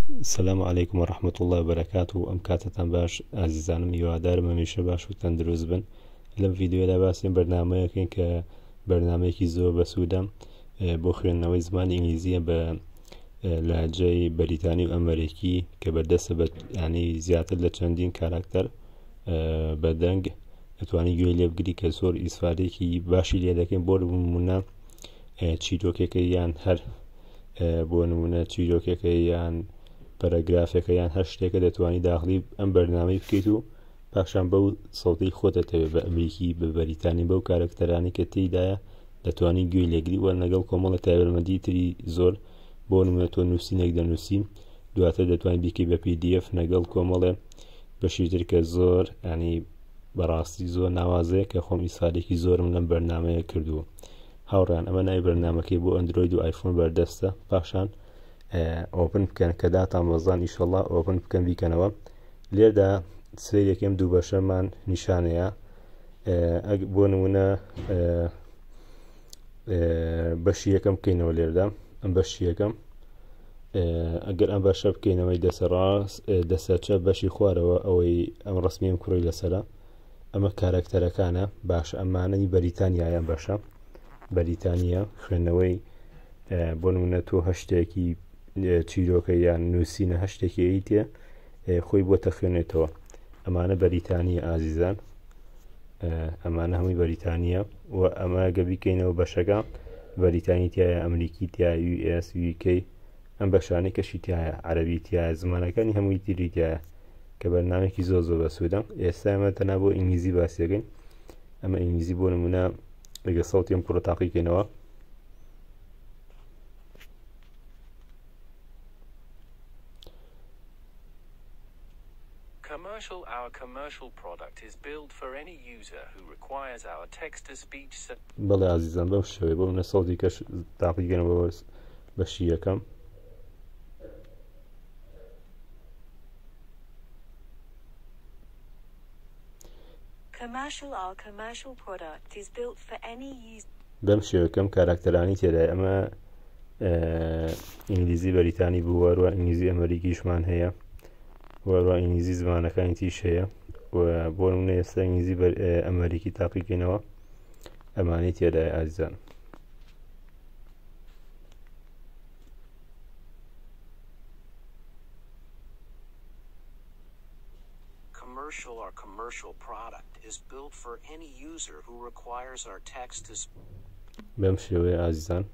سلام علیکم و رحمة اللە و بەرەکاته ئەم کاتەتان باش ئازیزانم هیوادارم هەمیشە باش و تەندروست بن لەم ڤیدیۆدا باسی ئەم بەرنامەیەکەین کە بەرنامەیەکی زۆر بەسوودە بۆ خوێندنەوەی زمانی ئینگلیزیە بە لەهجەی بەریتانی و ئەمریکی کە بەردەستە بە ینی زیاتر لە چەندین کاراکتەر بە دەنگ دەتوانانی گوێ لێ بگری کە زۆر ئیسفادێکی باشی لێ دەکەین بۆ نمونە چیرۆکێکە یان هەر بۆ نمونە چیرۆکێکە یان پەرەگرافێکە یان هەر شتێکە دەتوانی داخلی ئەم بەرنامەی بکەیت و پاشان بەو سەوتەی خۆتەتەوێت بە ئەمریکی بە بەریتانی بەو کارەکتەرانی کە تێیدایە دەتوانی گوێی لێگری وە لەگەڵ کۆمەڵە تایبەتمەندی تری زۆر بۆ نمونە تۆ نووسینێک دەنووسی دواتر دەتوانانی بیکەی بە PDF لەگەڵ کۆمەڵێ بەشی تر کە زۆر ینی بەڕاستی زۆر ناوازەیە کە خۆم ئیسفادێکی زۆرم لەم بەرنمەیە کردووە هاوڕێیان ئەمە ناوی بەرنامەکەی بۆ ئەندرۆید و ئایفۆن بەردەستە پاشان open بکەن کە داتان بەزان ئیشەڵا open بکەن بیکەنەوە لێردا سەیرێکم دوو بەشەمان نیشانەیە بۆ نمونە بەشی یەکەم بکەینەوە لێردا ئەم بەشی یەکەم ئەگەر ئەم بەشە بکەینەوەی دەسە ڕاست دەسە چە بەشی خوارەوە ئەوەی ئەم ڕسمیم کوڕی لەسرە ئەمە کارەکتەرەکانە باشە ئەمانەی بەریتانیایە بەشە بەریتانیە خوێندنەوەی بۆ نمونە تۆ هەشتێکی چیرۆکە یان نووسینە هەشتێکی ئەیتێ خۆی بۆ تەخوێنێتەوە ئەمانە بەریتانیە ئازیزان ئەمانە هەمووی بەریتانیە و ئەمە گە بیکەینەوە بەشەکە بەریتانی تایە ئەمریکی تیا US UK ئەم بەشانەی کەشی تایە عەربی تایە زمانەکانی هەمووی تری تایە کە بەرنامەیەکی زۆر زۆر بەسوودە ئێستا ئێمە تەنها بۆ ئینگلیزی باسیەکەین ئەمە ئینگلیزی بۆ نمونە لەگە سەوتی ئەم کوڕە تاقیکەینەوە Commercial Our commercial product is built for any user who requires our text-to-speech بەڵێ ئازیزان بەم شێوەیە بۆ منە سەوتی کەش تاقیکەنەوە بەشی یەکەم بەم شێوەکەم کاراکتەرانی تێدای ئەمە ئینگلیزی بەریتانی بوو وەروە ئینگلیزی ئەمریکیشمان هەیە وەروە ئینگلیزی زمانەکانی تیش هەیە و بۆ نمونە ئێستا ئینگلیزی ئەمریکی تاقیکەینەوە ئەمانەی تێدای ئازیزان. Commercial Our commercial product is built for any user who requires our text to بەم شێوەیە ئازیزان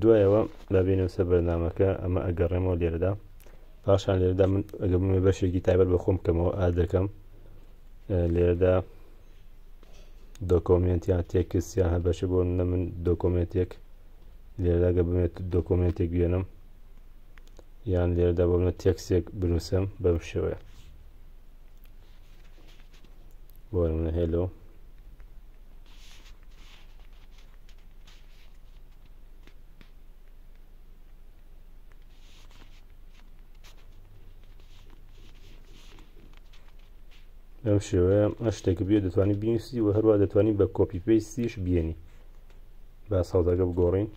دوایەوە با بێنەوە سەر بەرنامەکە ئەمە ئەگەڕێمەوە لێرەدا پاشان لێرەدا من ئەگە بمێ بەشێکی تایبەت بە خۆم بکەمەوە add دەکەم لێرەدا document یان text یان هەر بەشە بۆ نە من document ێک لێرەدا گە بمێت document ێک بێنم یان لێرەدا بۆ منە تێکسێک بنووسم بەم شێوەیە بۆ منە hello بەم شێوەیە هەر شتێک بێ دەتوانانی بینوسی و هەروە دەتوانانی بە copy paste یش بێنی با سەوتەکە بگۆڕین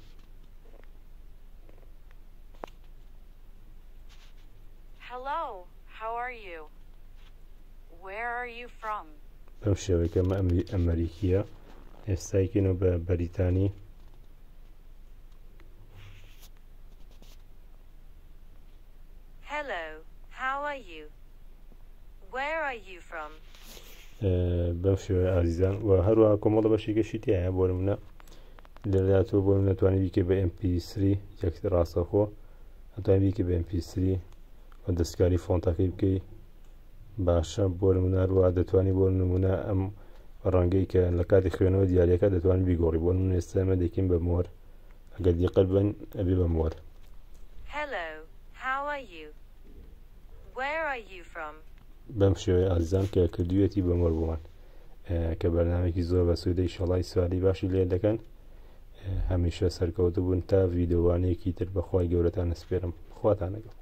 Hello, how are you? Where are you from? بەم شێوەیە کە ئەمە ئەمریکیە ئێستایکەینەوە بە بەریتانی Hello, how are you? Where are you from? بەم شێوەیە ئازیزان و هەروەها کۆمەڵە بەشێکەشی تایە بۆ نمونە لێرەدا تۆ بۆ نەتوانی بیکەی بە MP3 یەک ڕاستەخۆ ئەتوانی بیکەی بە MP3 و دەستکاری فۆنتەکەی بکەی باشە بۆ نمونە هەروەها دەتوانی بۆ نمونە ئەم ڕەنگەی کە لە کاتی خوێنەوە دیارەکە دەتوانانی بیگۆڕی بۆ نمونە ئێستا ئێمە دەکەین بە مۆر ئەگەر دیقەت بن ئەبێ بە مۆر Hello, how are you? Where are you from? بەم شێوەیە ئازیزان کە کردوویەتی بە مۆر بۆمان کە بەرنامەیەکی زۆر بەسوودە ئیشەڵا ئیسفادەی باشی لێ دەکەن هەمیشە سەرکەوتوو بوون تا ڤیدیۆوانەیەکی تر بەخوای گەورەتان ئەسپێرم خواتان لەگەڵ.